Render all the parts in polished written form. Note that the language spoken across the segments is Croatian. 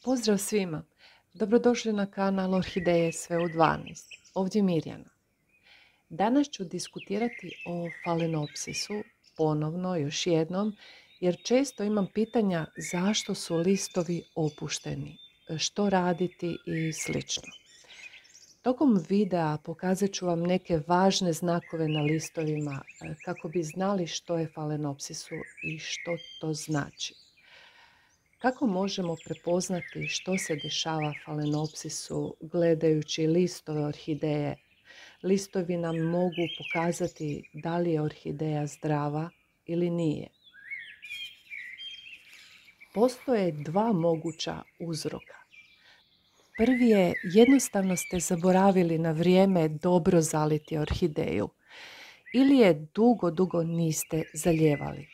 Pozdrav svima! Dobrodošli na kanal Orhideje sve u 12. Ovdje Mirjana. Danas ću diskutirati o falenopsisu, ponovno, još jednom, jer često imam pitanja zašto su listovi opušteni, što raditi i slično. Tokom videa pokazat ću vam neke važne znakove na listovima kako bi znali što je falenopsisu i što to znači. Kako možemo prepoznati što se dešava falenopsisu gledajući listove orhideje? Listovi nam mogu pokazati da li je orhideja zdrava ili nije. Postoje dva moguća uzroka. Prvi je, jednostavno ste zaboravili na vrijeme dobro zaliti orhideju ili je dugo niste zalijevali.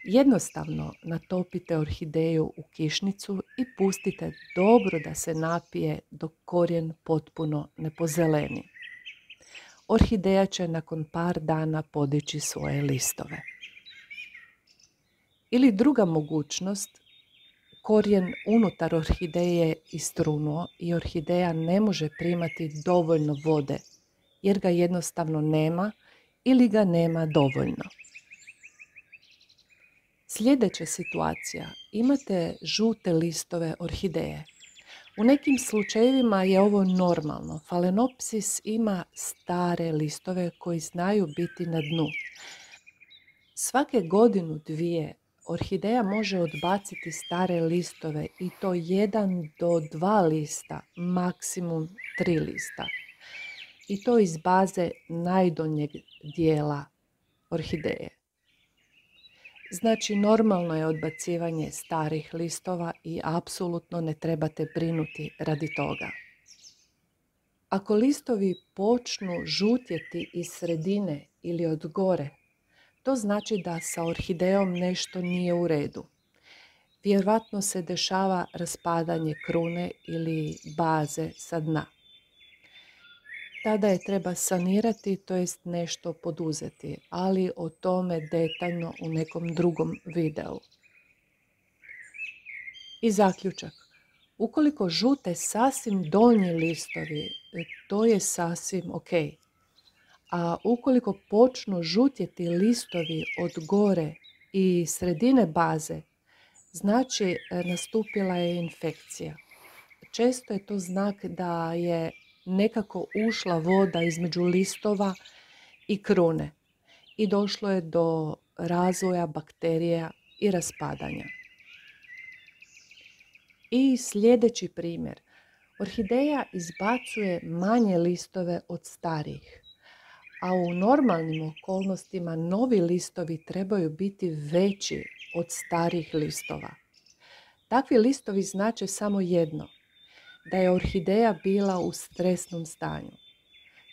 Jednostavno natopite orhideju u kišnicu i pustite dobro da se napije dok korijen potpuno ne pozeleni. Orhideja će nakon par dana podići svoje listove. Ili druga mogućnost, korijen unutar orhideje je istrunuo i orhideja ne može primati dovoljno vode jer ga jednostavno nema ili ga nema dovoljno. Sljedeća situacija, imate žute listove orhideje. U nekim slučajevima je ovo normalno. Falenopsis ima stare listove koji znaju biti na dnu. Svake godinu, dvije, orhideja može odbaciti stare listove i to 1 do 2 lista, maksimum 3 lista. I to iz baze najdonjeg dijela orhideje. Znači, normalno je odbacivanje starih listova i apsolutno ne trebate brinuti radi toga. Ako listovi počnu žutjeti iz sredine ili od gore, to znači da sa orhidejom nešto nije u redu. Vjerojatno se dešava raspadanje krune ili baze sa dna. Tada je treba sanirati, to jest nešto poduzeti, ali o tome detaljno u nekom drugom videu. I zaključak. Ukoliko žute sasvim donji listovi, to je sasvim ok. A ukoliko počnu žutjeti listovi od gore i sredine baze, znači nastupila je infekcija. Često je to znak da je nekako ušla voda između listova i krune i došlo je do razvoja bakterija i raspadanja. I sljedeći primjer. Orhideja izbacuje manje listove od starijih, a u normalnim okolnostima novi listovi trebaju biti veći od starih listova. Takvi listovi znače samo jedno, da je orhideja bila u stresnom stanju.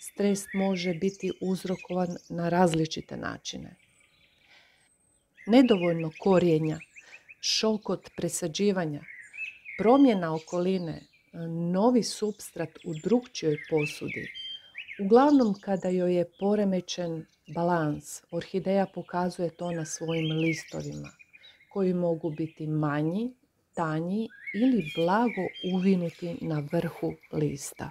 Stres može biti uzrokovan na različite načine. Nedovoljno korijenja, šok od presađivanja, promjena okoline, novi supstrat u drukčijoj posudi. Uglavnom, kada joj je poremećen balans, orhideja pokazuje to na svojim listovima, koji mogu biti manji, tanji ili blago uvinuti na vrhu lista.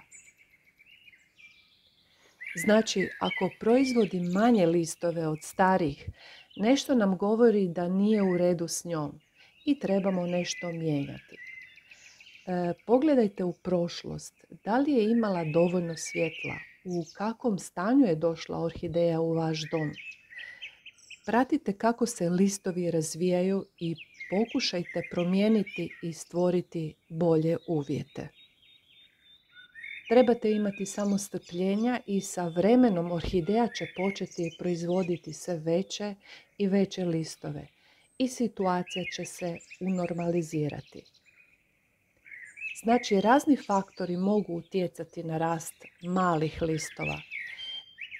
Znači, ako proizvodi manje listove od starih, nešto nam govori da nije u redu s njom i trebamo nešto mijenjati. Pogledajte u prošlost, da li je imala dovoljno svjetla, u kakvom stanju je došla orhideja u vaš dom. Pratite kako se listovi razvijaju i pokušajte promijeniti i stvoriti bolje uvjete. Trebate imati samo strpljenja i sa vremenom orhideja će početi proizvoditi sve veće i veće listove i situacija će se unormalizirati. Znači, razni faktori mogu utjecati na rast malih listova.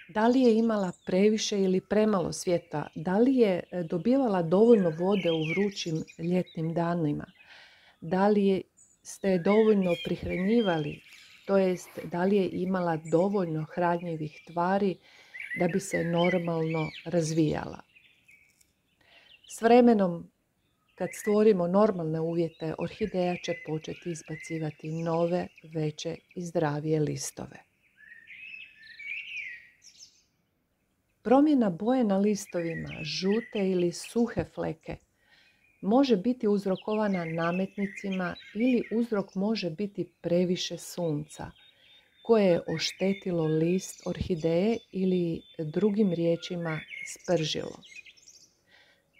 Da li je imala previše ili premalo svjetla? Da li je dobivala dovoljno vode u vrućim ljetnim danima? Da li ste je dovoljno prihranjivali? To jest, da li je imala dovoljno hranjivih tvari da bi se normalno razvijala? S vremenom Kad stvorimo normalne uvjete, orhideja će početi izbacivati nove, veće i zdravije listove. Promjena boje na listovima, žute ili suhe fleke, može biti uzrokovana nametnicima ili uzrok može biti previše sunca, koje je oštetilo list orhideje ili drugim riječima spržilo.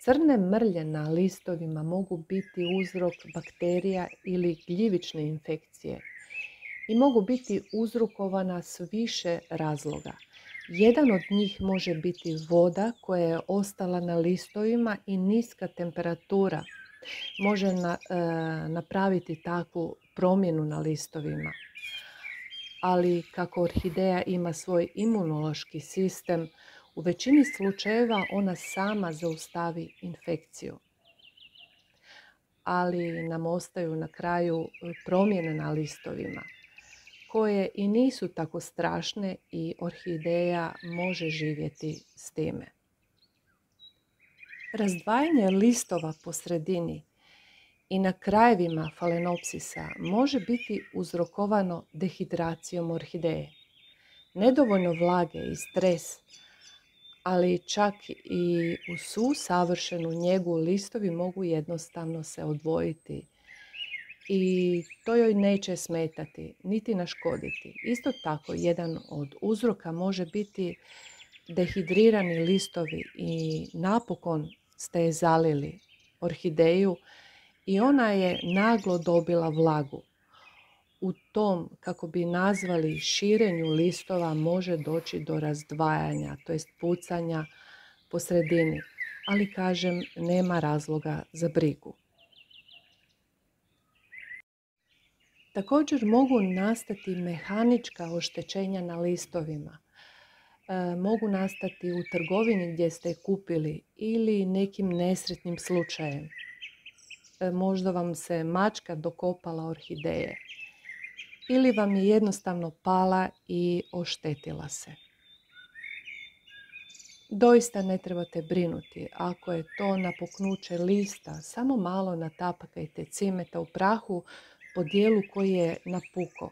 Crne mrlje na listovima mogu biti uzrok bakterija ili gljivične infekcije i mogu biti uzrokovana s više razloga. Jedan od njih može biti voda koja je ostala na listovima i niska temperatura može napraviti takvu promjenu na listovima. Ali kako orhideja ima svoj imunološki sistem, u većini slučajeva ona sama zaustavi infekciju. Ali nam ostaju na kraju promjene na listovima, koje i nisu tako strašne i orhideja može živjeti s time. Razdvajanje listova po sredini i na krajevima falenopsisa može biti uzrokovano dehidracijom orhideje. Nedovoljno vlage i stres, ali čak i u svu savršenu njegu listovi mogu jednostavno se odvojiti i to joj neće smetati niti naškoditi. Isto tako, jedan od uzroka može biti dehidrirani listovi i napokon ste je zalili orhideju i ona je naglo dobila vlagu. U tom, kako bi nazvali, širenju listova može doći do razdvajanja, to jest pucanja po sredini, ali kažem, nema razloga za brigu. Također mogu nastati mehanička oštećenja na listovima. Mogu nastati u trgovini gdje ste je kupili ili nekim nesretnim slučajem. Možda vam se mačka dokopala orhideje ili vam je jednostavno pala i oštetila se. Doista ne trebate brinuti. Ako je to napuknuće lista, samo malo natapakajte cimeta u prahu po dijelu koji je napuko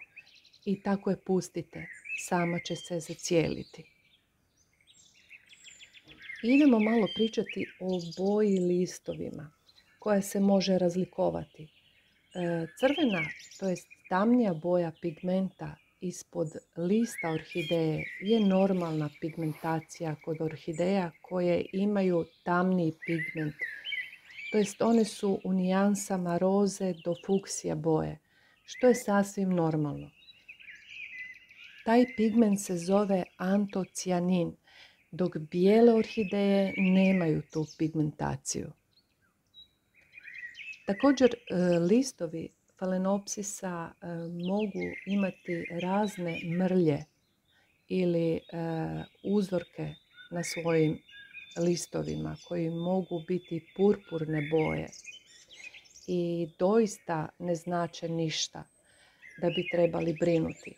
i tako je pustite. Sama će se zacijeliti. Idemo malo pričati o boji listovima koja se može razlikovati. Crvena, to jest tamnija boja pigmenta ispod lista orhideje je normalna pigmentacija kod orhideja koje imaju tamniji pigment. To jest one su u nijansama roze do fuksija boje, što je sasvim normalno. Taj pigment se zove antocijanin, dok bijele orhideje nemaju tu pigmentaciju. Također, listovi falenopsisa mogu imati razne mrlje ili uzorke na svojim listovima koji mogu biti purpurne boje i doista ne znače ništa da bi trebali brinuti.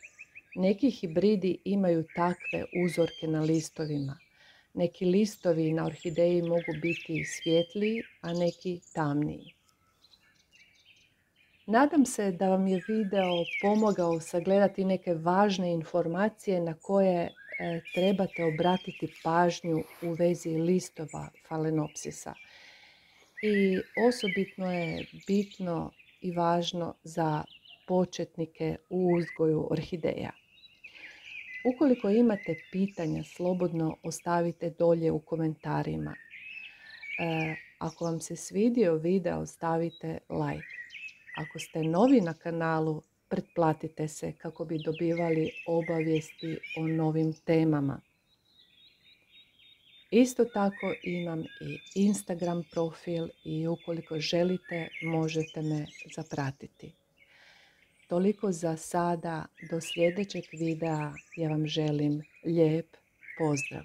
Neki hibridi imaju takve uzorke na listovima. Neki listovi na orhideji mogu biti svjetliji, a neki tamniji. Nadam se da vam je video pomogao sagledati neke važne informacije na koje trebate obratiti pažnju u vezi listova falenopsisa. I osobitno je bitno i važno za početnike u uzgoju orhideja. Ukoliko imate pitanja, slobodno ostavite dolje u komentarima. Ako vam se svidio video, stavite like. Ako ste novi na kanalu, pretplatite se kako bi dobivali obavijesti o novim temama. Isto tako imam i Instagram profil i ukoliko želite možete me zapratiti. Toliko za sada, do sljedećeg videa ja vam želim lijep pozdrav.